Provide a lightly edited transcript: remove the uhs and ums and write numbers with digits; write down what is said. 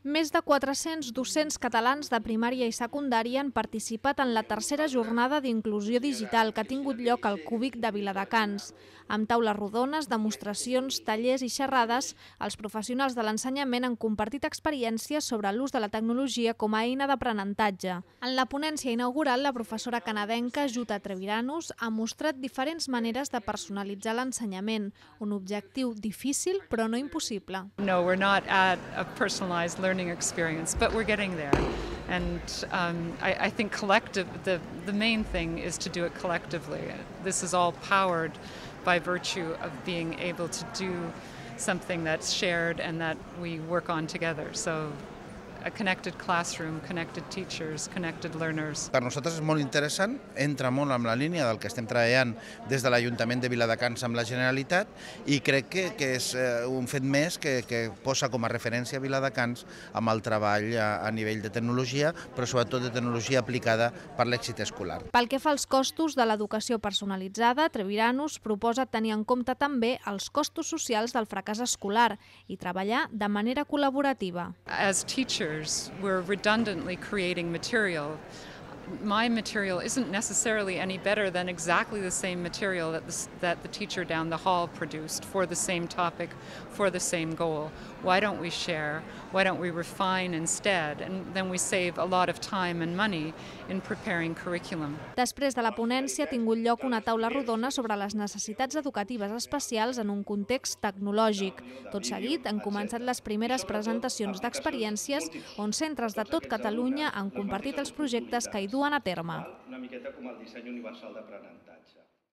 Més de 400 docents catalans de primària i secundària han participat en la tercera jornada d'inclusió digital que ha tingut lloc al Cúbic de Viladecans. Amb taules rodones, demostracions, tallers i xerrades, els professionals de l'ensenyament han compartit experiències sobre l'ús de la tecnologia com a eina d'aprenentatge. En la ponència inaugural, la professora canadenca Jutta Treviranus ha mostrat diferents maneres de personalitzar l'ensenyament, un objectiu difícil però no impossible. No, we're not at a personalized learning experience, but we're getting there. And I think the main thing is to do it collectively. This is all powered by virtue of being able to do something that's shared and that we work on together. So a connected classroom, connected teachers, connected learners. Per nosaltres és molt interessant, entra molt amb la línia del que estem treballant des de l'Ajuntament de Viladecans amb la Generalitat i crec que és un fet més que posa com a referència a Viladecans amb el treball a nivell de tecnologia, però sobretot de tecnologia aplicada per l'èxit escolar. Pel que fa als costos de l'educació personalitzada, Treviranus proposa tenir en compte també els costos socials del fracàs escolar i treballar de manera col·laborativa. As teachers, we're redundantly creating material. My material isn't necessarily any better than exactly the same material that the teacher down the hall produced for the same topic, for the same goal. Why don't we share? Why don't we refine instead? And then we save a lot of time and money in preparing curriculum. Després de la ponència ha tingut lloc una taula rodona sobre les necessitats educatives especials en un context tecnològic. Tot seguit han començat les primeres presentacions d'experiències on centres de tot Catalunya han compartit els projectes que hi duen a terme. Una miqueta com el disseny universal d'aprenentatge.